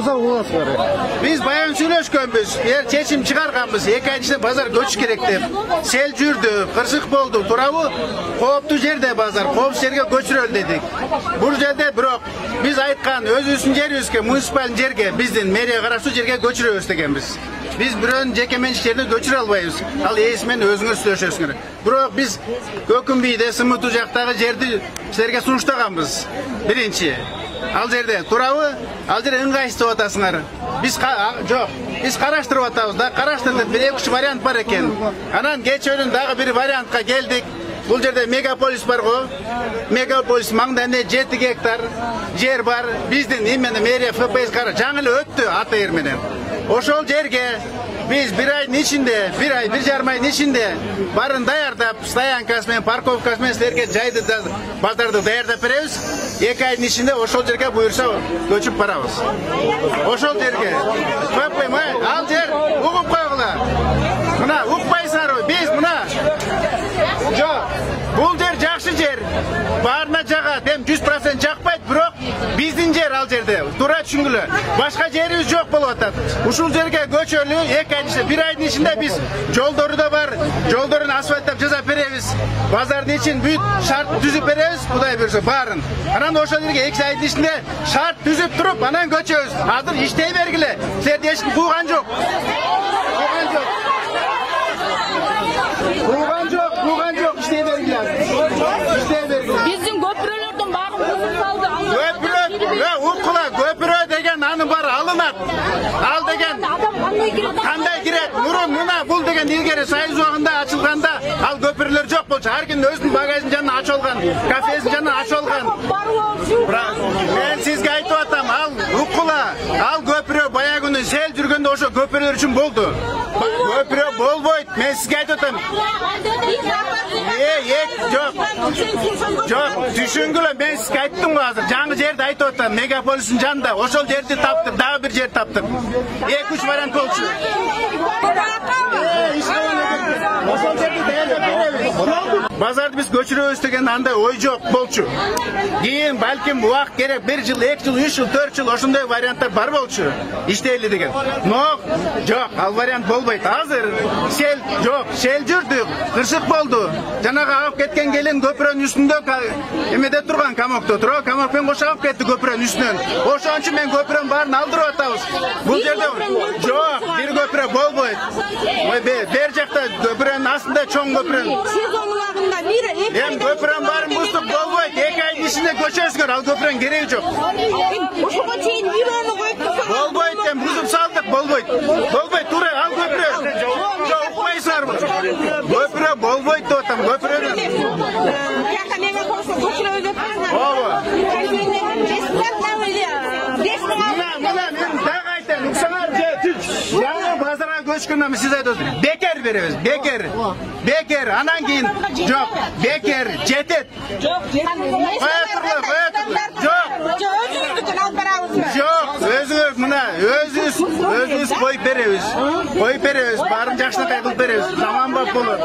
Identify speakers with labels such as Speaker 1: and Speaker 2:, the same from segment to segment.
Speaker 1: кырса боласыздар.
Speaker 2: Биз баян сүйлөшкөнбүз. Чечим чыгарганбыз. 2 ай ичинде базар көчүш керек деп. Сел жүрдү, кырсык болду. Туурабы? Кооптуу жерде базар, коопсуз жерге көчүрөлү дедик. Бул жерде бирок биз айткан өзүбүздүн жерибизге, муниципалдын жерге, биздин мэрия караштуу жерге көчүрөбүз дегенбиз. Биз бирөөнүн жеке менчик жерине көчүрө албайбыз. Ал ээси менен өзүңөр сүйлөшөсүңөр. Бирок биз Көкүмбийде, Сымытуу жактагы жерди силерге сунуштаганбыз. Биринчи. Ал жерде туурабы? Ал жерде ыңгайсыз деп атасыңар. Биз жок. Биз караштырып атабыз да, караштырдык. 1-2 вариант бар экен. Анан кечөөнүн дагы бир вариантка келдик. Бул жерде мегаполис бар го. Мегаполис маңдайында 7 гектар жер бар. Биздин именно мэрия ФПС жаңы эле өттү АТР менен. Ошол жерге biz bir ayın içinde, bir жарым айдын içinde барын даярдап, стоянкасы менен, парковкасы менен силерге жайды да, базарды даярдап беребиз. 2 айдын içinde ошол жерге буйрса көчүп барабыз. Ошол жерге. Ал жер угуп койгула. Мына укпайсыңарбы? Биз мына. Жок. Бул жер жакшы жер. Баарына жагат, эми 100% жакпайт, бирок биздин жер ал жерде. Туура түшүнгүлө. Башка жерибиз жок болуп атат. Ушул жерге көчөлү 2 айдын içinde, 1 айдын içinde биз жолдору да бар, жолдорун асфальттап жасап беребиз. Базардын ичин бүт шарт түзүп беребиз, Кудай буйрса баарын. Анан ошол жерге 2 айдын içinde шарт түзүп туруп, анан көчөбүз. Азыр иштей бергиле. Силерди эч ким кууган жок. Кууган жок, иштей бергиле.
Speaker 3: Биздин көпүрөлөрдөн багым кызып калды.
Speaker 2: Укула, көпүрө деген анын баары алынат. Ал деген кандай кирет? Мурун мына бул деген илгери Союз убагында ачылганда ал көпүрөлөр жок болчу. Ар ким өзүнүн багажын жанына ачып алган, кафесин жанына ачып алган. Мен сизге айтып атам, ал укула, ал көпүрө баягы күнү сел жүргөндө ошо көпүрөлөр үчүн болду. Көпүрө болбойт. Мен сизге айтып атам. Жок, түшүнгүлө, мен сизге айттым го азыр. Жаңы жерди айтып атам, мегаполистин жанында. Ошол жерди таптык, дагы бир жер таптык. 2-3 вариант болчу. Ошол жерди даярдап беребиз. Базарды биз көчүрөбүз деген андай ой жок болчу. Кийин балким убакыт керек, 1 жыл, 2 жыл, 3 жыл, 4 жыл ошондой варианттар бар болчу. Иштейли деген. Но жок, ал вариант болбойт. Азыр сел жок, сел жүрдүк, кырсык болду. Жанагы агып кеткен келин көпүрөнүн үстүндө эмеде турган, камокто турабы, камокпен кошо агып кетти көпүрөнүн үстүнөн. Ошон үчүн мен көпүрөнүн баарын алдырып атабыз. Бул жерде жок, бир көпүрө болбойт. Бер жакта көпүрөнүн астында чоң көпүрө. Эми көпүрөнүн баарын бузуп болбойт. 2 айдын ичинде көчөсүңөр, ал көпүрөнүн кереги жок.
Speaker 3: Ошого чейин үйрөнүп койду.
Speaker 2: Болбойт, эми бузуп салдык, болбойт. Болбойт, туура, ал көпүрө. Жок, укпайсыңарбы? Көпүрө болбойт деп атам, көпүрөнү. Ооба. Жаңы базарга көчкөндөн сиз айтасыз, бекер беребиз, бекер, анан кийин жок, бекер жетет. Жок, өзүңөр мына өзүбүз коюп беребиз, баарын жакшынакай кылып беребиз, заман бап болот.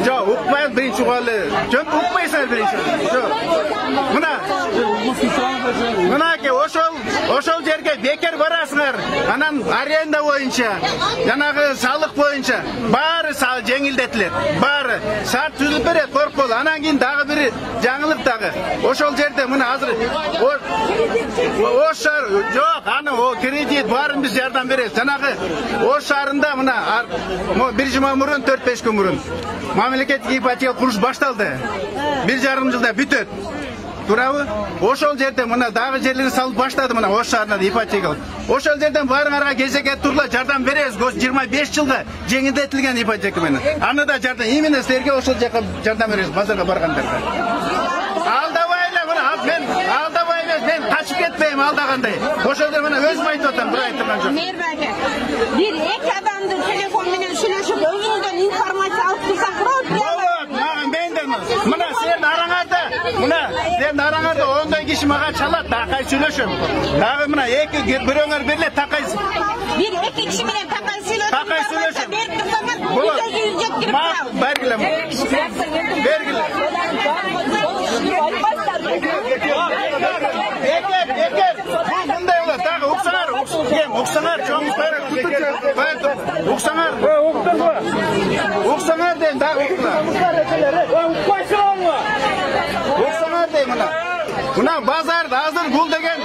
Speaker 2: Жок, укпай биринчи угалы, жок, укпайсыңар биринчи. Жок. Мынаке ошол жерге бекер барасыңар, анан аренда боюнча, жанагы салык боюнча баары жеңилдетилет. Баары шарт түзүп берет, коркпол. Анан кийин дагы бир жаңылык дагы. Ошол жерде мына азыр Ош шаар жок, аны кредит баарын биз жардам беребиз. Жанагы Ош шаарында мына бир жума мурун, 4-5 күн мурун мамлекеттик ипотека куруш башталды. 1,5 жылда бүтөт. Туурабы? Ошол жерде мына дагы жерлерди салып баштады мына Ош шаарында ипотека. Ошол жерден баарыңарга кезекке турла жардам беребиз. 25 жылга жеңилдетилген ипотека менен. Аны да жардам, именно силерге ошол жака жардам беребиз базарга баргандарга. Мен качып кетпейм алдагандай. Ошол жерде мына өзүм айтып атам, бир айткан жок.
Speaker 3: Мээрбаке. Бир эки адамды телефон менен сүйлөшүп, өзүңүздөн информация алып турсак болот. Мына сен араңарда 10 киши мага чалат, такай сүйлөшөм. Дагы мына бирөөңөр берле такай. Бир эки киши менен такай сүйлөшөм. Берип турсаңар, өзүңүз жеткирип турабыз. Бергиле.
Speaker 2: Мындай болот, дагы уксаңар, чоңуңуздар уксаңар. Уксаңар дейм, дагы уксаңар. Уксаңар дейм мына. Мына базарда азыр бул деген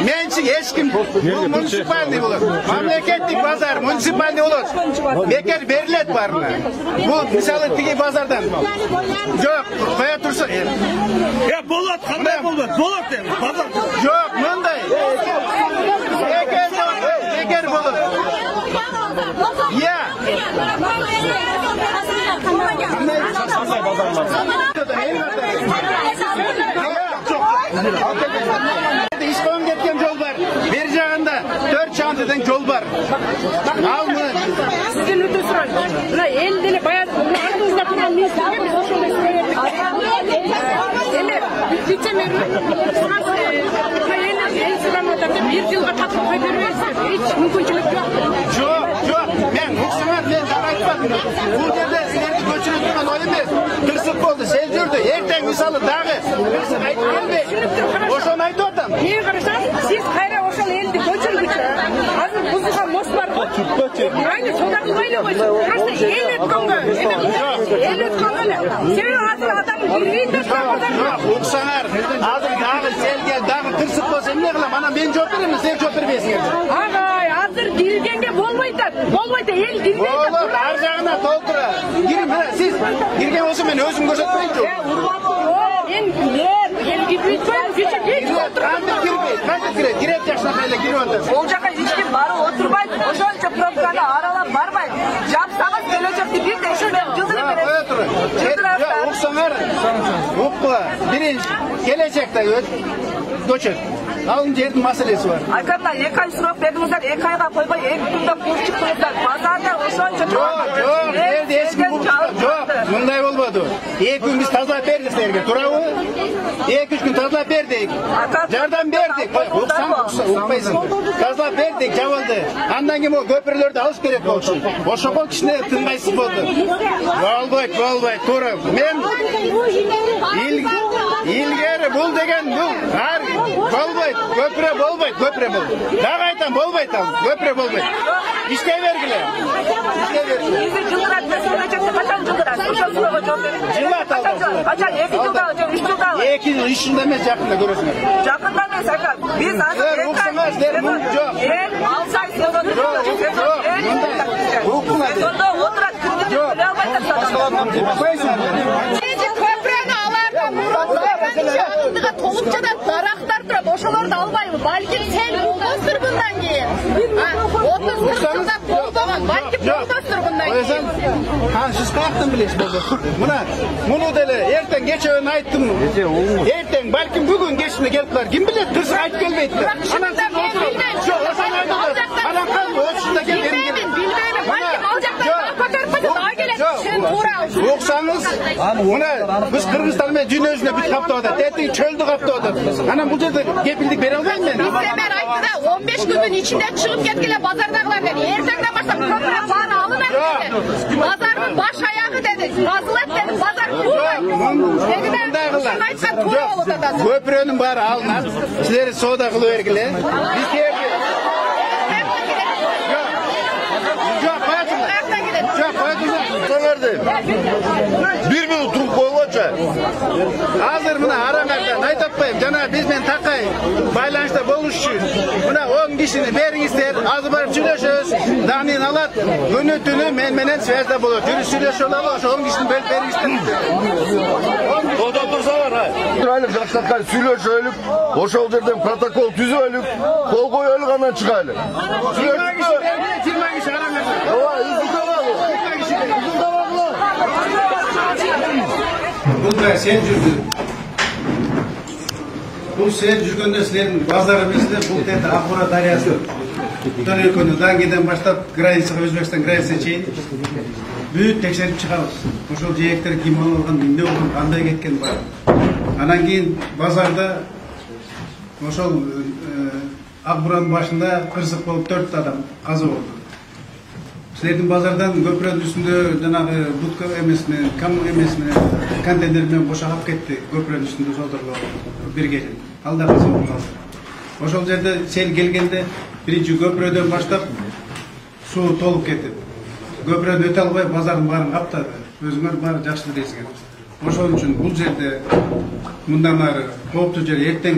Speaker 2: менчик эч ким, бул муниципальный болот. Мамлекеттик базар, муниципальный болот. Бекер берилет барына. Бул мисалы тиги базардан. Жок, кое турса.
Speaker 1: Болот, кандай болот? Болот дейм, базар.
Speaker 2: Жок, мындай. Бекер болот. Я. İspan ketken yol var. Bir jagында 4 çantadan yol var. Al mı?
Speaker 4: Sizden öte sorayım. Mına el dele bayağı ardınızda turan ministrге biz ошондой сөйлөдүк. Эми вице-мэр эл сураматат деп 1 жылга татып кой бербейсиз. Эч мүмкүнчүлүк жок.
Speaker 2: Жок. Мен уксаңар, мен дагы айтпадым. Бул жерде силерди көчүрүп турган ой эмес. Тырсык болду, сел жүрдү. Эртең мисалы дагы тырсык айтып келбей. Ошону айтып атам.
Speaker 4: Мен карасам, сиз кайра ошол элди көчүргүчү. Азыр бузулган мост бар. Айны сода кылбайлы койсун. Просто эл өткөнгө. Эл өткөнгө эле. Себеби азыр адам кирбейт да базарга.
Speaker 2: Уксаңар, азыр дагы селге дагы тырсык болсо эмне кылам? Анан мен жооп берем, сен жооп бербейсиңер.
Speaker 4: Агай, азыр киргенге болбойт да. Болбойт да, эл кирбейт да.
Speaker 2: Болот, ар жагына толтура. Кирип, мына сиз кирген болсо мен өзүм көрсөтпөйүнчү.
Speaker 4: Мен эл кирбейт коем, кече эч
Speaker 2: Кантип кирбейт? Кантип кирет? Кирет жакшынакай эле кирип атат.
Speaker 5: Ол жака эч ким барып отурбайт, ошончо пробканы аралап барбайт. Жапсаңыз келечекти бир текшерме жылдырып берет.
Speaker 2: Кое тур. Уксаңар, укпа. Биринчи келечекте көчөт. Алын жердин маселеси бар.
Speaker 5: Айкамда 2 ай сурап бердиңиздер, 2 айга койбой 2 күндө куруп чыктыңыздар. Базарда ошончо
Speaker 2: Жок, жерде эч ким жок. Мындай болбоду. 2 күн биз тазалап бердик силерге, туурабы? 2-3 күн тазалап бердик. Жардам бердик. Укпайсың. Тазалап бердик, жабылды. Андан кийин могу көпүрлөрдү алыш керек болчу. Ошого кичине тынбайсыз болду. Болбойт, туура. Мен илгери бул деген бул болбойт. Көпүрө болбойт. Дагы айтам, болбойт ал. Көпүрө болбойт. Иштей бергиле.
Speaker 5: Бизи жылдырат, келечекте качан жылдырат? Ошол суроого жооп бериңиз.
Speaker 2: Жылат ал.
Speaker 5: Качан 2 жылдагы же 3 жылдагы?
Speaker 2: 2 жыл, 3 жылда эмес, жакында көрөсүңөр.
Speaker 5: Жакында эмес, ака. Биз азыр жок. Алсай сезон. Сезондо отурат, күндү биле албайт
Speaker 4: Көпүрөнү алардын алдыга толукчадан дарактар турат. Ошолорду албайбы? Балким сел болбостур мындан кийин. 30 жылда болбогон, балким болбостур мындан кийин.
Speaker 2: Сиз каяктан билесиз болбостур? Муну деле эртең кечөөн айттым. Эртең балким бүгүн кечинде келиптир. Ким билет? Тырсык айтып келбейтти. Анан
Speaker 4: мен билбейм.
Speaker 2: Жок, ошону айтып. Анан кандай очунда келген?
Speaker 4: Билбейм. Балким ал жактан көтөрүп койсо дагы келет. Сен туура ал.
Speaker 2: Уксаңыз, мына биз Кыргызстан менен дүйнө жүзүнө бүт каптап атат. Эртең чөлдү каптап атат. Анан бул жерде кепилдик бере албайм мен.
Speaker 4: Мэр айтты да 15 күндүн ичинде чыгып кеткиле базардагылар dedi. Эртеңден баштап көпүрө бааны алынат dedi. Базардын баш аягы dedi. Басылат dedi. Базар туулайт. Ошону айткан туура болуп атат.
Speaker 2: Көпүрөнүн баары алынат. Силер соода кылып бергиле. Биз керди. Жок,
Speaker 1: Уксаңарды. 1 минут туруп койгончу.
Speaker 2: Азыр мына араңардан айтып атпайм. Жана биз менен такай байланышта болуш үчүн мына 10 кишини бериңиздер. Азыр барып сүйлөшөбүз. Данын алат. Күнү түнү мен менен связьда болот. Жүрүп сүйлөшүп алалы, ошо 10 кишини бөлүп бериңиздер.
Speaker 1: Тода турсаңар, турайлык жакшаткан сүйлөшөлүк, ошол жерден протокол түзөлүк, кол коелук анан чыгайлы.
Speaker 2: 20 киши араңардан. Бул да сен жүрдү. Бул сен жүргөндө силердин базар эместе бул жерде Акбура дарыясы. Төрөкөнү Даңгиден баштап границага, Өзбекстан границасына чейин бүт текшерип чыгабыз. Ошол жээктер ким алган, эмне болгон, кандай кеткен бар. Анан кийин базарда ошол Акбуранын башында кырсык болуп 4 адам каза болду. Силердин базардан көпүрөнүн үстүндө жанагы будка эмес менен, камыл эмес менен контейнер менен бошогап кетти. Көпүрөнүн үстүндө жолдорго бир кече. Ал да каза болуп калды. Ошол жерде сел келгенде биринчи көпүрөдөн баштап суу толуп кетип, көпүрөдөн өтө албай базардын баарын каптады. Өзүңөр баары жакшы билесиңер. Ошон үчүн бул жерде мындан ары кооптуу жер эртең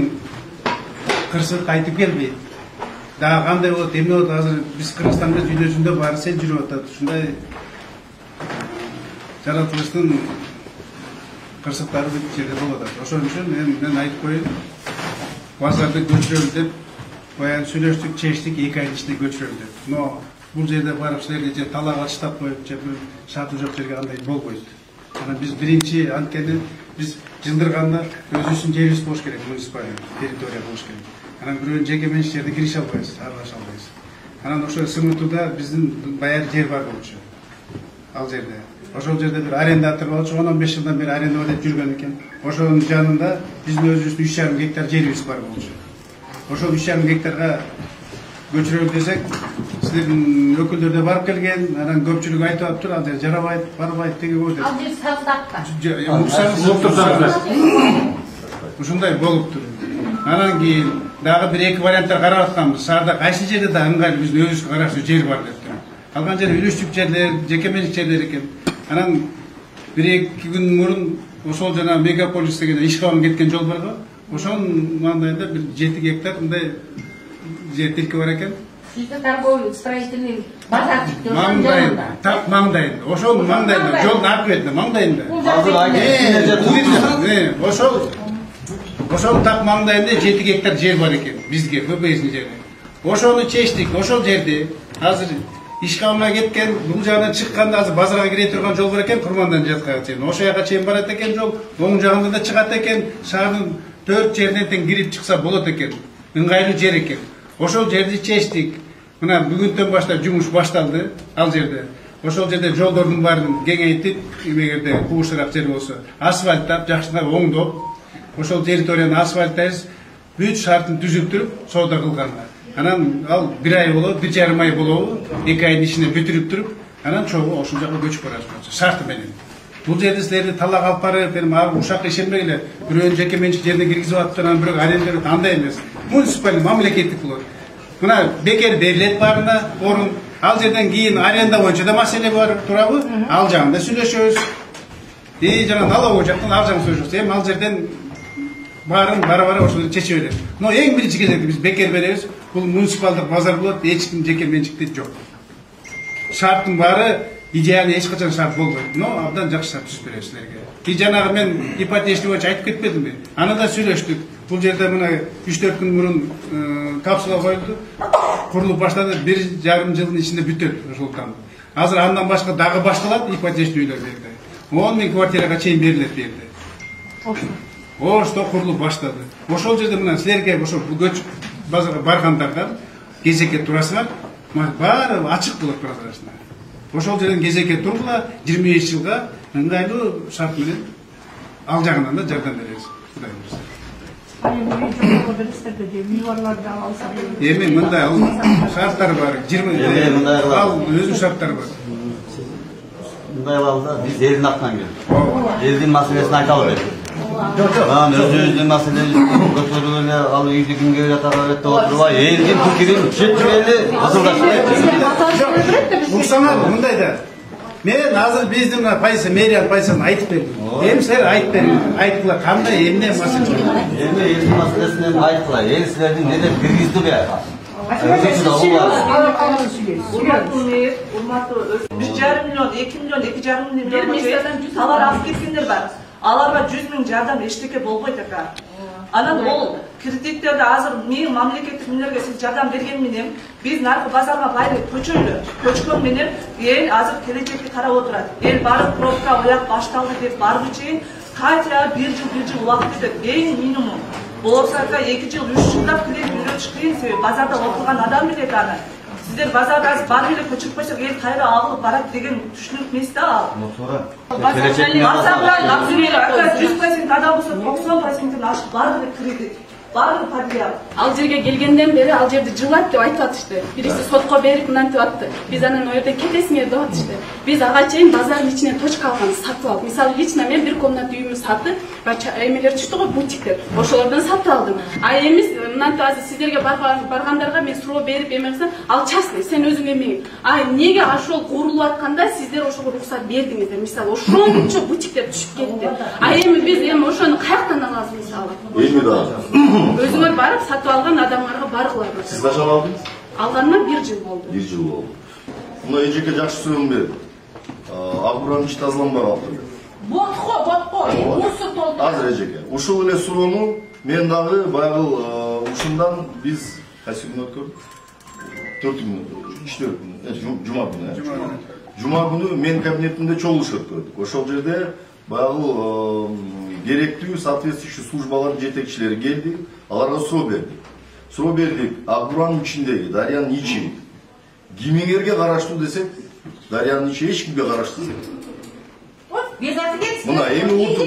Speaker 2: кырсык кайтып келбейт. Дагы кандай болот, эмне болот, азыр биз Кыргызстанда дүйнөсүндө баары сел жүрүп атат. Ушундай жаратылыштын кырсыктары бүт жерде болуп атат. Ошон үчүн мен айтып коеюн, базарды көчүрөлү деп баягы сүйлөштүк, чечтик, 2 айдын ичинде көчүрөлү деп. Но бул жерде барып силерге же талак алыштап коюп, же бир шарты жок жерге андай болбойт. Анан биз биринчи анткени биз жылдырганда өзүбүздүн жерибиз болуш керек, муниципалдык территория болуш керек. Анан бирөөнүн жеке менчик жерде кирише албайбыз, аралаша албайбыз. Анан ошо СМТда биздин баягы жер бар болчу. Ал жерде. Ошол жерде бир арендатор болчу, 10-15 жылдан бери аренда өтөп жүргөн экен. Ошонун жанында биздин өзүбүздүн 3,5 гектар жерибиз бар болчу. Ошол 3,5 гектарга көчүрөлү десек, силердин өкүлдөр да барып келген, анан көпчүлүк айтып атыптыр, ал жер жарабайт, барбайт деген ой деп.
Speaker 3: Ал жер саздакка.
Speaker 2: Ушундай болуптур. Анан кийин дагы 1-2 варианттар карап атканбыз. Шаарда кайсы жерде да ыңгайлуу биздин өзүбүзгө караштуу жер бар деп. Калган жер үлүштүк жерлер, жеке менчик жерлер экен. Анан 1-2 күн мурун ошол жана мегаполис деген Ишкабам кеткен жол бар го. Ошонун маңдайында бир 7 гектар мындай жер тилки бар экен.
Speaker 3: Sizde торговый строительный базарчык деп
Speaker 2: маңдайында, тап маңдайында. Ошонун маңдайында, жолдун аркы бетинде, маңдайында. Ошол тап маңдайында 7 гектар жер бар экен бизге, ФБСдин жери. Ошону чечтик, ошол жерде азыр Ишкабамга кеткен, бул жагынан чыкканда азыр базарга кире турган жол бар экен, Курмандан жаткан чейин. Ошол жака чейин барат экен жол, оң жагында да чыгат экен, шаардын 4 жеринен тең кирип чыкса болот экен. Ыңгайлуу жер экен. Ошол жерди чечтик. Мына бүгүндөн баштап жумуш башталды ал жерде. Ошол жерде жолдордун баарын кеңейтип, эгерде кубушураак жер болсо, асфальттап, жакшылап оңдоп, ошол территорияны асфальттайбыз, бүт шартын түзүп туруп, соода кылганга. Анан ал 1 ай болот, 1,5 ай болобу, 2 айдын ичинде бүтүрүп туруп, анан чогуу ошол жака көчүп барабыз шарты менен. Бул жерде силерди талак алып барып, ушак ишенбегиле, бирөөнүн жеке менчик жерине киргизип атып, анан бирөө аренда андай эмес. Муниципалдык мамлекеттик болот. Мына бекер берилет баарына орун. Ал жерден кийин аренда боюнча да маселе бар, туурабы? Ал жагында сүйлөшөбүз. Жана налоговый жактан ал жагын сүйлөшөбүз. Эми ал жерден баарын бара-бара ошол чечип беребиз. Но эң биринчи кезекте биз бекер беребиз. Бул муниципалдык базар болот, эч ким жеке менчикти жок. Шарттын баары идеалый эч качан шарт болбойт. Но абдан жакшы шарт түзүп беребиз силерге. Жанагы мен ипотечный боюнча айтып кетпедимби? Аны да сүйлөштүк. Бул жерде мына 3-4 күн мурун капсула коюлду. Курулуп баштады, 1,5 жылдын ичинде бүтөт ошолтан. Азыр андан башка дагы башталат ипотечный үйлөр берди. 10 000 квартирага чейин берилет берди. Ошто курулуп баштады. Ошол жерде мына силерге ошол көчүп базарга баргандардан кезекке турасыңар, баары ачык болот прозрачно. Ошол жерден кезекке тургула, 25 жылга ыңгайлуу шарт менен ал жагынан да жардам беребиз. Кудай буйрса. Эми мындай шарттар бар. 20 ал өзүнүн шарттары бар.
Speaker 6: Мындай алда биз элдин атынан келдик. Элдин маселесин айта албайбыз. Анан өзүбүздүн маселени көтөрүп эле ал үйдү кимге жатага деп отурбай, элдин пикирин жеткип эле ысылдашты.
Speaker 2: Уксаңар мындай да. Мен азыр биздин позиция, мэрия позициясын айтып бердим. Эми силер айтып бериңиз. Айткыла кандай эмне маселе?
Speaker 6: Эми элдин маселесин эми айткыла. Эл силердин неде киргизди бияга.
Speaker 5: Урматтуу 3,5 миллион, 2 миллион, 2,5 миллион товар алып кеткендер бар. Аларга 100 000 жардам эчтеке болбойт экен. Анан ол кредиттерди азыр мен мамлекеттик мүнөргө сиз жардам берген менен биз наркы базарга байры көчөлү. Көчкөн менен эл азыр келечекке карап отурат. Эл барып пробка ояк башталды деп барып чейин кайта 1 жыл убакыт кетет. Эң минимум. Болсо 2 жыл, 3 жылдап үйрөтүш кыйын, себеби базарда отурган адам билет аны. Сиздер базарда баары эле көчүп койсок эл кайра агылып барат деген түшүнүк эмес да ал. Базарда 100% адам болсо 90%-ин ашып баары эле кредит. Баары подъял.
Speaker 7: Ал жерге келгенден бери ал жерди жылат деп айтып атышты. Бириси сотко берип мынтип атты. Биз анан ол жерден кетесиңер деп атышты. Биз ага чейин базардын ичинен точка алган, сатып алып. Мисалы лично мен бир комната үйүмдү сатып, эмелер түштү го, бутиктер. Ошолордон сатып алдым. А эмес мынтип азыр сиздерге баргандарга мен суроо берип эмесем, ал частный, сен өзүң эмең. А эмнеге ошол курулуп атканда сиздер ошого уруксат бердиңиздер? Мисалы ошончо бутиктер түшүп кетти. А эми биз ошону каяктан алабыз мисалы?
Speaker 1: Эми да.
Speaker 7: Өзүңөр барып сатып алган адамдарга баргылар.
Speaker 1: Сиз качан алдыңыз?
Speaker 7: Алганыма 1 жыл болду.
Speaker 1: 1 жыл болду. Мына эжеке жакшы суроо берди. Агуран ич тазаланбай калды.
Speaker 3: Ботко, мусор толтуруп.
Speaker 1: Азыр эжеке. Ушул эле суроону мен дагы баягы ушундан биз кайсы күнү өткөрдүк? 4 күн, 3-4 күн, жума күнү. Жума күнү мен кабинетимде чогулуш өткөрдүк. Ошол жерде баягы керектүү соответствующий службалардын жетекчилери келди, аларга суроо бердик. Суроо бердик, Агуран ичиндеги, дарыянын ичи кимиңерге караштуу десек, дарыянын ичи эч кимге караштуу эмес. Мына эми угуп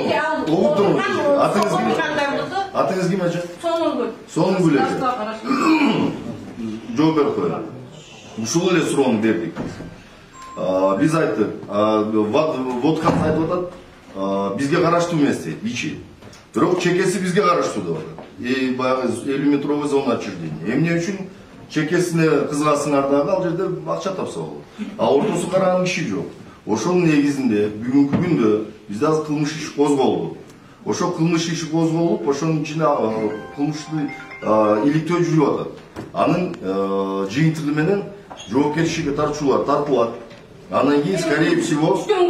Speaker 1: атыңыз ким ажа? Соңгүл эже. Жооп берип коелу. Ушул эле суроону бердик. Биз айттык, водканы айтып атат, бизге караштуу эмес дейт, ичи. Бирок чекеси бизге караштуу деп атат. Баягы 50-метровый зона отчуждения. Эмне үчүн чекесине кызгасыңар дагы ал жерде акча тапса болот. А ортосу караган киши жок. Ошонун негизинде бүгүнкү күндө бизде азыр кылмыш иш козголду. Ошол кылмыш иши козголуп, ошонун ичинде кылмыштуу иликтөө жүрүп атат. Анын жыйынтыгы менен жоопкерчиликке тартуулар тартылат. Андан кийин, скорее всего, түштөн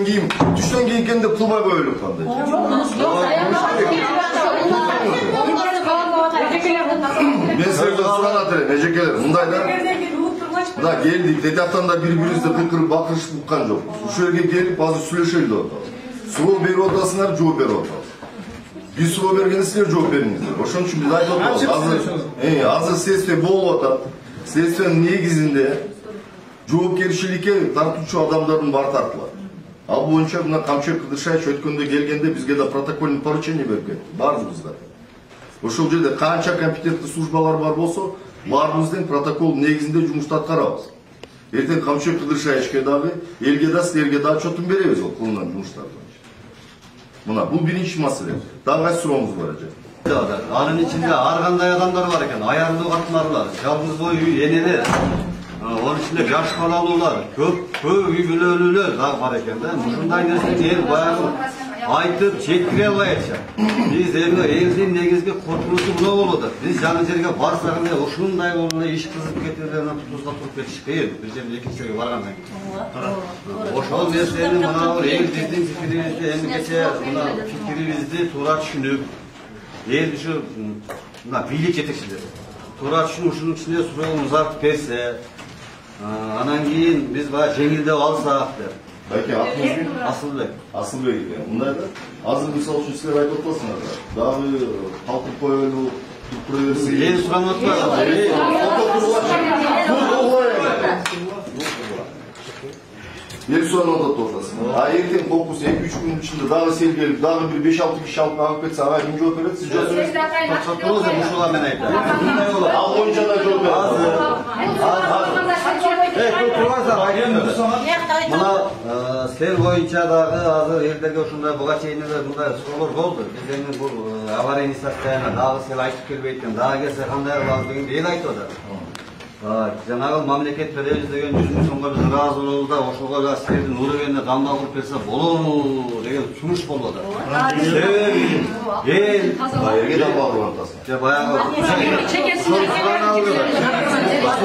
Speaker 1: кийин экен деп кылбай коелук кандай. Мен сіздерден сурап атырмын, эжекелер, мындай да. Мына келдик, детяктан да бири-бирибизди кыйкырып бакырышып уккан жокпуз. Ушул жерге келип азыр сүйлөшөлү деп атабыз. Суроо берип атасыңар, жооп берип атабыз. Биз суроо бергенде силер жооп бериңиздер. Ошон үчүн биз айтып атабыз. Азыр следствие болуп атат. Следствиянын негизинде жоопкерчиликке тартуучу адамдардын баары тартылат. Ал боюнча мына Камчыбек Кыдыршаевич өткөндө келгенде бизге да протокольный поручение берип кетти. Баарыбызга. Ошол жерде канча компетенттүү службалар бар болсо, баарыбыздын протокол негизинде жумушту аткарабыз. Эртең Камчыбек Кыдыршаевичке дагы, элге да, силерге да отчетун беребиз ол кылынган жумуштардан. Мына бул биринчи маселе. Дагы кайсы сурооңуз бар эже?
Speaker 6: Анын ичинде ар кандай адамдар бар экен, аярлуу катмарлар, жалгыз бой үй энелер, onun içinde жаш балалуулар, көп үй бүлөлүүлөр дагы бар экен да. Ушундай нерсени эл баягы айтып жеткире албай атышат. Биз элдин негизги коркунучу мына болот. Биз жаңы жерге барсак эле ушундай болуп эле иш кызып кетип эле тузга туруп кетиш кыйын. Бир жерге экинчи жерге баргандан кийин. Ошол нерсени мына эл биздин пикирибизди эми кече мына пикирибизди туура түшүнүп, эл ушу мына бийлик жетекчилери туура түшүнүп ушунун ичинде суроого узартып берсе, анан кийин биз баягы жеңилдеп алсак деп.
Speaker 1: Байке, атыңыз
Speaker 6: Асылбек.
Speaker 1: Асылбек экен. Мындай да. Азыр мисалы үчүн силер айтып атасыңар да. Дагы калтырып коелу, туруп берсин.
Speaker 6: Эл суранып атпайбы?
Speaker 1: Эл суранып атасың. А эртең коркус 2-3 күн ичинде дагы сел келип, дагы бир 5-6 киши алып кетсе, ага ким жооп берет? Сиз жооп бересиз.
Speaker 6: Токтотуңуз, ушуга мен айтам. Мындай болот.
Speaker 1: Ал боюнча да жооп берет.
Speaker 6: Мына сел боюнча дагы азыр элдерге ушундай буга чейин эле мындай суроолор болду. Биз эми бул аварийный состояние дагы сел айтып келбейт экен, дагы келсе кандай кылабыз дегенди эл айтып атат. Жанагы мамлекет беребиз деген 100 000 сомго биз ыраазы болобуз да, ошого да силердин уровеньне камдал кылып берсе болобу деген сунуш болуп атат. Себеби
Speaker 1: Элге дамбал кылып атасың.
Speaker 6: Баягы чекесин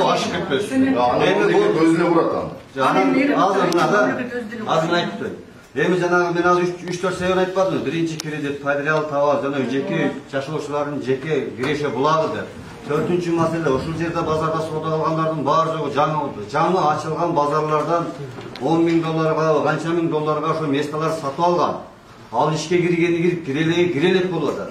Speaker 6: ашып кетпесин.
Speaker 1: Эми бул көзүнө бурат аны.
Speaker 6: Азыр айтып эми жанагы мен азыр 3-4 себеп айтып атам. Биринчи кредит материал табабыз, жана жеке жашоочулардын жеке киреше булагы деп. Төртүнчү маселе, ушул жерде базарда соода кылгандардын баары жогу жаңы ачылган базарлардан $10,000 канча миң долларга ошо месталар сатып алган. Ал ишке киргени кирелек болуп атат.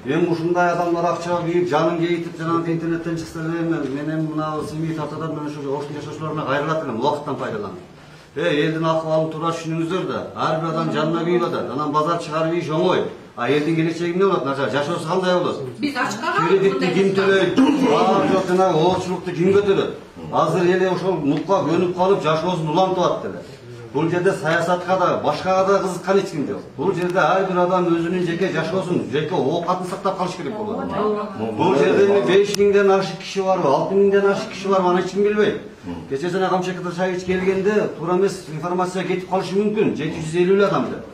Speaker 6: Эми ушундай адамдар акча кийип, жанын кейитип, жанагы интернеттен чыкса эле мен эми мына семей тартадан мен ошо орус жашоочуларына кайрылат элем, убакыттан пайдаланып. Элдин акыбалын туура түшүнүңүздөр да. Ар бир адам жанына күйүп атат. Анан базар чыгарып ийиш оңой. А элдин келечеги эмне болот? Начар жашоосу кандай болот?
Speaker 4: Биз ачкага
Speaker 6: Кредитти ким төлөйт? Жок жанагы оорчулукту ким көтөрөт? Азыр эле ошол нукка көнүп калып жашоосун улантып атат эле. Бул жерде саясатка да, башкага да кызыккан эч ким жок. Бул жерде ар бир адам өзүнүн жеке жашоосун, жеке оокатын сактап калыш керек болот. Бул жерде 5000ден ашык киши барбы, 6000ден ашык киши барбы, аны эч ким билбейт. Кече жана Камчек Ташаевич келгенде туура эмес информация кетип калышы мүмкүн. 750 адам деп.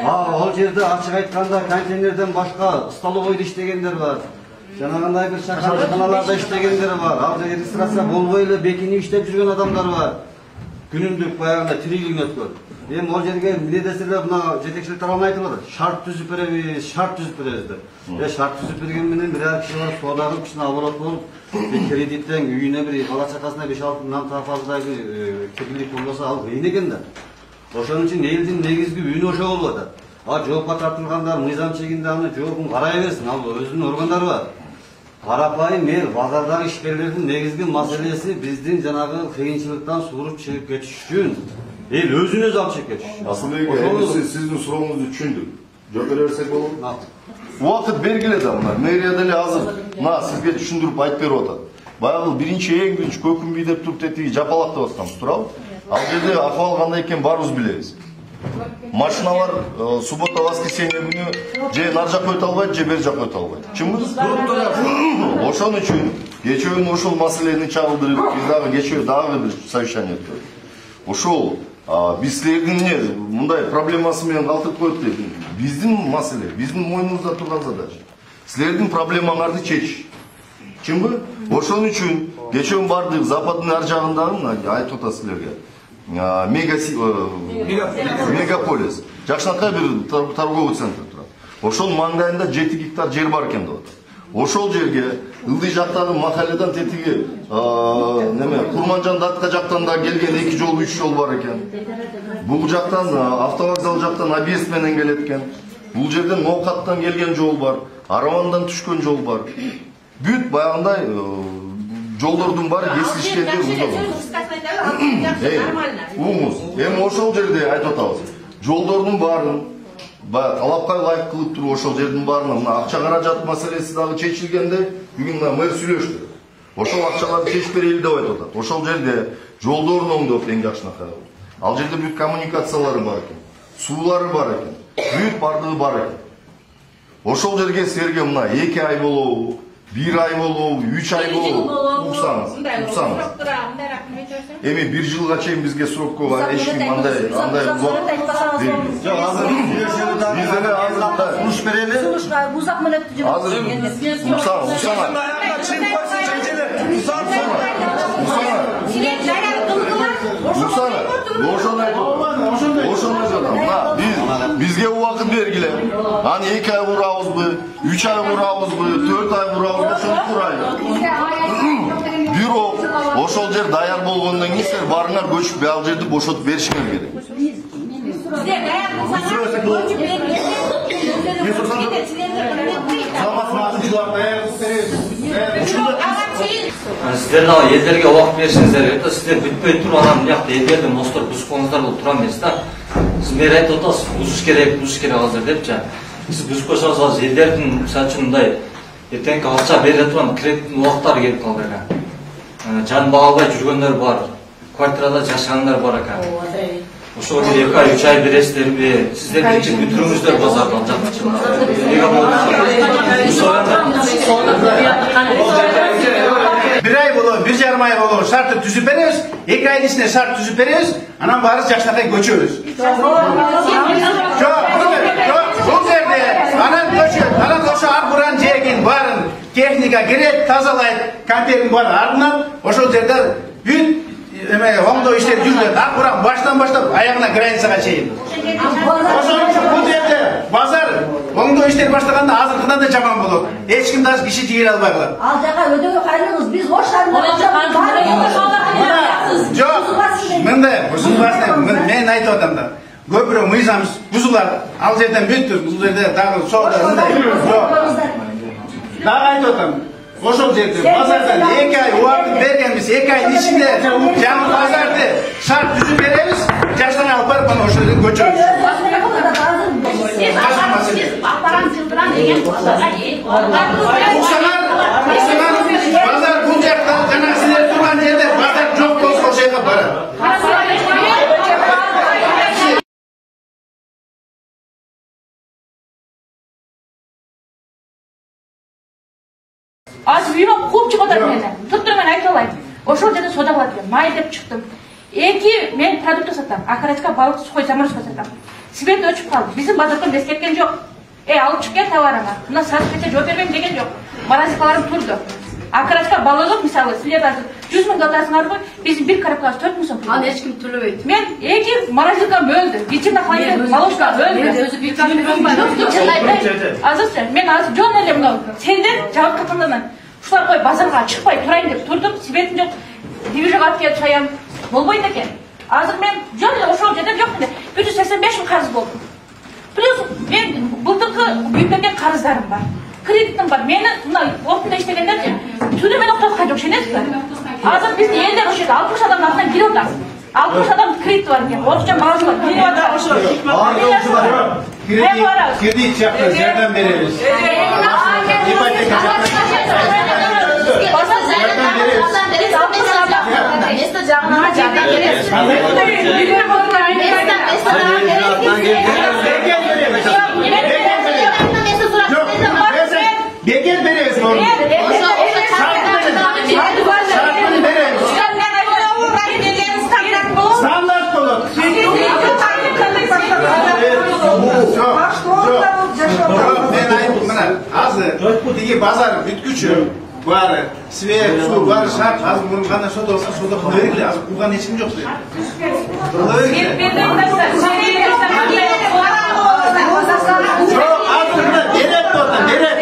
Speaker 6: Ал жерде ачык айтканда контейнерден башка столовойдо иштегендер бар. Жанагындай бир шахарчаналарда иштегендер бар. Ал жерде регистрация болбой эле бекинип иштеп жүргөн адамдар бар. Күнүмдүк баягында тирилиң өткөн. Эми ал жерге эмне деселер мына жетекчилик тарабынан айтып атат. Шарт түзүп беребиз, шарт түзүп беребиз деп. Шарт түзүп берген менен бир киши барып соода кишини оборот болуп, кредиттен үйүнө бир бала чакасына 5-6 мыңдан таапалдай бир кепилдик болбосо ал кыйын экен да. Ошон үчүн элдин негизги үнү ошо болуп атат. Жоопко тартылгандар мыйзам чегинде аны жоопун карай берсин, ал өзүнүн органдары бар. Карапайым эл базардагы ишкерлердин негизги маселеси биздин жанагы кыйынчылыктан сууруп чыгып кетиш үчүн эл өзүн өзү алып чыгып кетиш.
Speaker 1: Асылбек эми сиздин сурооңузду түшүндүк. Жооп бере берсек болобу? Убакыт бергиле да мына мэрия деле азыр мына сизге түшүндүрүп айтып берип атат. Баягы эң биринчи көкүмбүй деп туруп тетиги жапалактап атканбыз, туурабы? Ал жерде акыбал кандай экенин баарыбыз билебиз. Машиналар суббота воскресенье күнү же нар жакка өтө албайт, же бер жакка өтө албайт. Чынбы? Ошон үчүн кечөө ошол маселени чагылдырып, биз дагы кечөө дагы бир совещание өткөрдүк. Ошол биз силердин мындай проблемасы менен калтырып коет деп. Биздин маселе, биздин мойнубузда турган задача. Силердин проблемаңарды чечиш. Чынбы? Ошон үчүн кечөө бардык Западдын ар жагындагы айтып атат силерге. Мегаполис. Жакшынакай бир торговый центр турат. Ошол маңдайында 7 гектар жер бар экен деп атат. Ошол жерге ылдый жактагы махалледан тетиги Курманжан Датка жактан да келген 2 жол 3 жол бар экен. Бул жактан автовокзал жактан объезд менен келет экен. Бул жерден Ноокаттан келген жол бар, Аравандан түшкөн жол бар. Бүт баягындай жолдордун баары кесилишкенде эми ошол жерде айтып атабыз. Жолдордун баарын талапка ылайык кылып туруп ошол жердин баарына мына акча каражат маселеси дагы чечилгенде бүгүн мэр сүйлөштү. Ошол акчаларды чечип берели деп айтып атат. Ошол жерде жолдорун оңдоп эң жакшынакай. Ал жерде бүт коммуникациялары бар экен, суулары бар экен, бүт бардыгы бар экен. Ошол жерге силерге мына 2 ай болобу, 1 ай болобу, 3 ай болобу уксаңыз. Эми 1 жылга чейин бизге срокко эч ким андай убакыт бербейт.
Speaker 6: Жок, азыр биздене азыр сунуш берели.
Speaker 8: Сунушка узак мөөнөттү жиберебиз.
Speaker 1: Бизге убакыт бергиле. Аны 2 ай урабызбы, 3 ай урабызбы, 4 ай урабызбы, ошону курайлы. Бирок ошол жер даяр болгондон кийин силер барыңар көчүп ал жерди бошотуп беришиңер керек.
Speaker 9: Сиздер дагы элдерге убакыт беришиңиздер керек. Сиздер бүтпөй туруп анан биякта элдерди мостор бузуп коюңуздар бул туура эмес да. Сиз мэр айтып атасыз, бузуш керек азыр депчи. Сиз бузуп койсоңуз азыр элдердин мисалы үчүн мындай эртеңки акча бере турган кредиттин убактары келип калды экен. Жан бага албай жүргөндөр бар, квартирада жашагандар бар экен. Ошого 2 ай 3 ай бересиздерби? Сиздер биринчи бүтүрүңүздөр базарды ал жакчы.
Speaker 2: Bir ay болобу, 1,5 ай болобу шартты түзүп беребиз, 2 айдын ичинде шарт түзүп беребиз, анан баары жакшынакай көчөбүз. Жок, бул жерде анан көчөт, анан ошо арбуран жегин баарын техника керет, тазалайт, контейнердин баарын ардынан ошол жерде бүт оңдоо иштери жүрүлөт. Арбуран баштан баштап аягына границага чейин. Ошон үчүн бул жерде базар оңдоо иштери баштаганда азыркыдан да жаман болот. Эч ким даже киши жигер албай калат.
Speaker 8: Ал жака өтөгө кайрылыңыз, биз боштарында
Speaker 2: жок, мындай бузулбасын, мен айтып атам да. Көпүрө мыйзам бузулат, ал жерден бүттүр, бул жерде дагы соода мындай. Жок. Дагы айтып атам. ошол жерде базардан 2 ай убакыт бергенбиз. 2 айдын ичинде жаңы базарды шарт түзүп беребиз. Жаштан алып барып мына ошол жерден көчөрүбүз.
Speaker 3: Апарам жылдырам деген
Speaker 2: базар бул жакта жана силер турган жерде базар жок болсо ошол жерге барат.
Speaker 3: Азыр үйүмө кууп чыгып атат мени. Туттур мен айта алайын. Ошол жерде соода кылат экен. Май деп чыктым. 2 мен продукт сатам. Окорочка, балык, сухой заморозка сатам. Свет өчүп калды. Биздин базардан бес кеткен жок. Алып чык кел товарыңа. Мына сатып кетсе жооп бербейм деген жок. Морозилкаларым турду. Окорочка балыгы мисалы силер азыр 100 миң атасыңар го. Биздин бир коробкасы 4 миң сом.
Speaker 7: Аны эч ким төлөбөйт.
Speaker 3: Мен 2 морозилкам өлдү. Ичинде холодильник молочка өлдү. Азыр мен азыр жон эле мына сенден жабык катандан ушулар кой базарга чыкпай турайын деп турдум. Светим жок. Движок алып келип чаям болбойт экен. Азыр мен жон эле ошол жерде жок эле 185 миң карыз болдум. Плюс мен былтыркы үйүмдөгү карыздарым бар. Кредитим бар. Мени мына отунда иштегендерчи түнү мен октоткан жок, шенесизби? Азыр биздин элдер ошол жерде 60 адамдын атынан кирип атат. 60 адам кредит бар экен. Орусча мазмун кирип атат ошол.
Speaker 2: Кредит жакта жардам беребиз. Ипотека
Speaker 8: Место жагына жардам беребиз.
Speaker 2: Бекер беребиз. Стандарт болот. Мен айтып мына азыр тиги базар бүткүчү баары свет, суу баары шарт. Азыр муну кандай соода болсо соода кыла бергиле. Азыр кылган эч ким жок.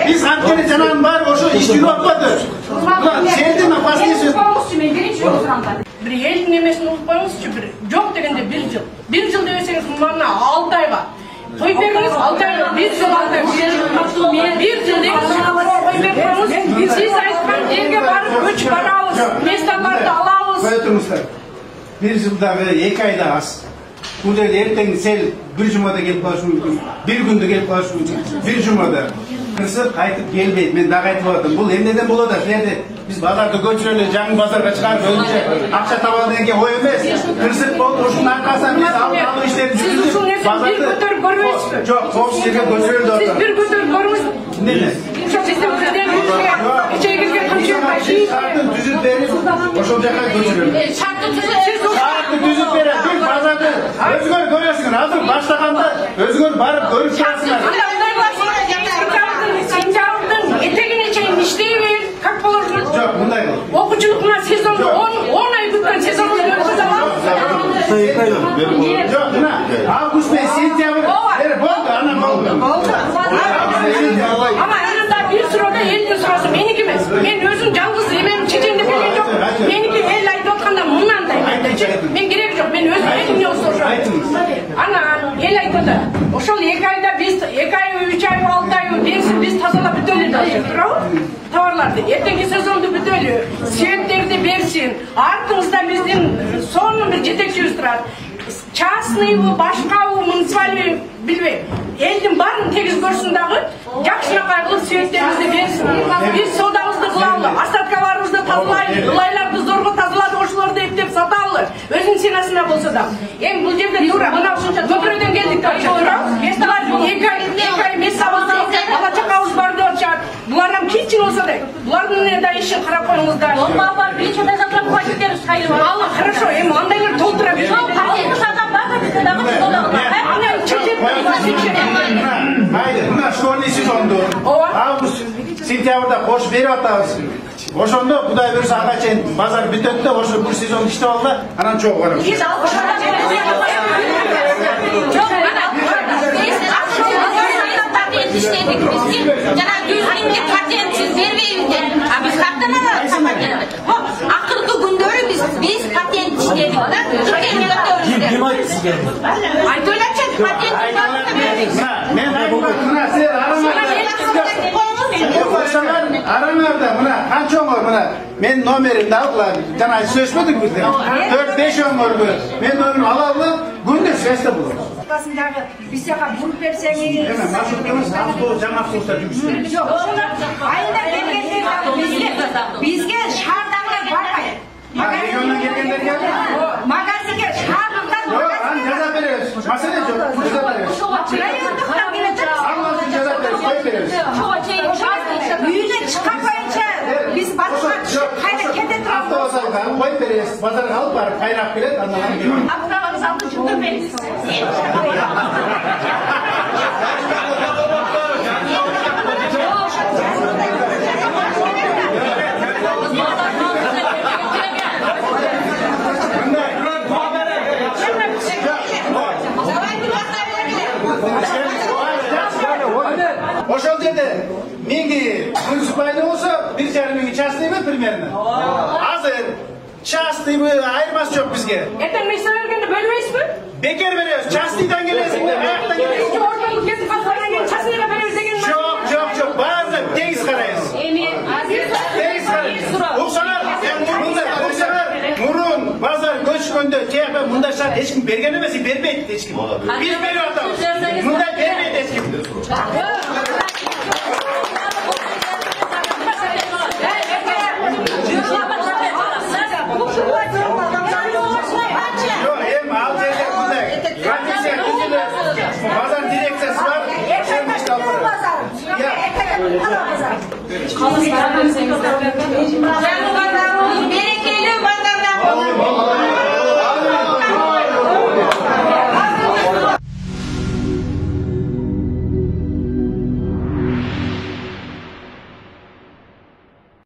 Speaker 2: Биз анткени жанагынын баары ошо иш жүрүп атпады. Сендин опасныйсың.
Speaker 7: Бир элдин эмесин укпаңызчы, бир жок дегенде 1 жыл. 1 жыл десеңиз мына 6 айга кой бериңиз, 6 айга 1 жыл 6 ай. 1 жыл дегенде кой бериңиз. Сиз айткан жерге барып көчүп барабыз, месталарды алабыз.
Speaker 2: Кое турмуздар. 1 жылдагы 2 айда аз. Бул жерде эртең сел 1 жумада келип калышы мүмкүн. 1 күндө келип калышы мүмкүн. 1 жумада кырсып кайтып келбейт. Мен дагы айтып атам. Бул эмнеден болот? Силерде биз базарды көчүрөлү, жаңы базарга чыгарып өзүнчө акча табалы деген ой эмес. Кырсып болуп ушунун аркасынан биз алып иштерди жүргүзүп базарды
Speaker 7: көтөрүп көрбөйсүзбү?
Speaker 2: Жок, коопсуз жерге көчүрөлү деп
Speaker 7: Сиз
Speaker 2: атам.
Speaker 7: бир көтөрүп көрүңүз.
Speaker 2: Эмне?
Speaker 7: Ошо биздин кичейгилген
Speaker 2: шартын түзүп берип, ошол жака көчүрөлү.
Speaker 7: Шартты
Speaker 2: түзүп берет. Бир базарды өзгөр көрөсүңөр. Азыр баштаганда өзгөр барып көрүп турасыңар.
Speaker 7: Сентябрдын этегине чейин иштей бер, как положено.
Speaker 2: Жок, мындай кыл.
Speaker 7: Окуучулук мына сезонду 10 ай бүткөн сезонду өткөзө алабыз.
Speaker 2: Жок, мына август менен сентябрь болду, анан болду.
Speaker 7: Ама анында бир суроо элдин суроосу меники эмес. Мен өзүм жалгыз эмем чечемди берген жок. Меники эл айтып атканда мынандай. Мен кереги жок. Мен өзүм элимне соршом. Ана эл айтып атат. Ошол 2 айда биз 2 ай, 3 ай, 6 ай деңиз биз тазалап бүтөлү деп туурабы? Товарларды эртеңки сезонду бүтөлү, светтерди берсин. Артыңызда биздин сонун бир жетекчибиз турат. Частныйбы, башкабы, муниципальный билбейм. Элдин баарын тегиз көрсүн дагы, жакшыраак кылып светтерибизди берсин. Биз соодабызды кылалы, остаткаларыбызды тазалайлы, ылайларды зорго тазаладык, ошолорду эптеп саталы. Өзүнүн ценасына болсо да. Эми бул жерде туура мына көпүрөдөн келдик деп туура. Булар 2 ай месабызды бала чакабыз бар деп атышат. Булардан кичине болсо да, булардын да ишин карап коюңуздар.
Speaker 3: Баба биринчи тазалап койдук шайлы.
Speaker 7: Ал хорошо, эми андайлар толтура берет.
Speaker 2: Майда, мына школьный сезонду август, сентябрда кош берип атабыз. Ошондо Кудай буюрса ага чейин базар бүтөт да, ошо бир сезон иштеп ал да, анан чогуу карап.
Speaker 3: иштедик бизге жана 100 миңге патентсиз бербейбиз деп. А биз каттан алабыз патент. Акыркы күндөрү биз патент иштедик да.
Speaker 6: Ким айтты сизге?
Speaker 3: Айтып элечи патент
Speaker 2: Мен айтмам, мына силер арамаңдар. араңарда мына канчоңор мына мен номеримди алгыла жана сөзбөдүк бизде 4-5 оңорду мен номерин алалы күндө связьда болом.
Speaker 8: Дагы бизге буруп берсеңиз.
Speaker 2: Жаңа автобустар жүрүшөт.
Speaker 8: Жок, айына келгенде бизге шаардагылар барбайт.
Speaker 2: Региондон келгендерге
Speaker 8: магазинге шаардыктан
Speaker 2: аны жаза беребиз. Маселе жок. Жаза беребиз.
Speaker 8: райондуктан келет.
Speaker 2: Алмасын жаза беребиз. Коюп беребиз.
Speaker 8: Үйүнөн чыккан боюнча биз башка кайда кете турабыз.
Speaker 2: Автобустарга коюп беребиз. Базарга алып барып кайрап келет, андан кийин.
Speaker 3: Автобустарды жүргүзбөйбүз.
Speaker 2: Ошол жерде менги муниципальный болсо 1,5 миң частныйбы примерно. Азыр частныйбы айырмасы жок бизге.
Speaker 3: Эртең мектепке бергенде бөлбөйсүзбү?
Speaker 2: Бекер беребиз. Частныйдан келесиңби, аяктан келесиңби?
Speaker 3: Ортолук кетип калгандан кийин частныйга беребиз деген.
Speaker 2: Жок, баары тегиз карайбыз. Тегиз карайбыз. Уксаңар, мурун базар көчкөндө тияка мындай шарт эч ким берген эмес, бербейт эч ким. Биз берип атабыз. Мындай бербейт эч ким. Bazar direksiyası var.
Speaker 8: Kalın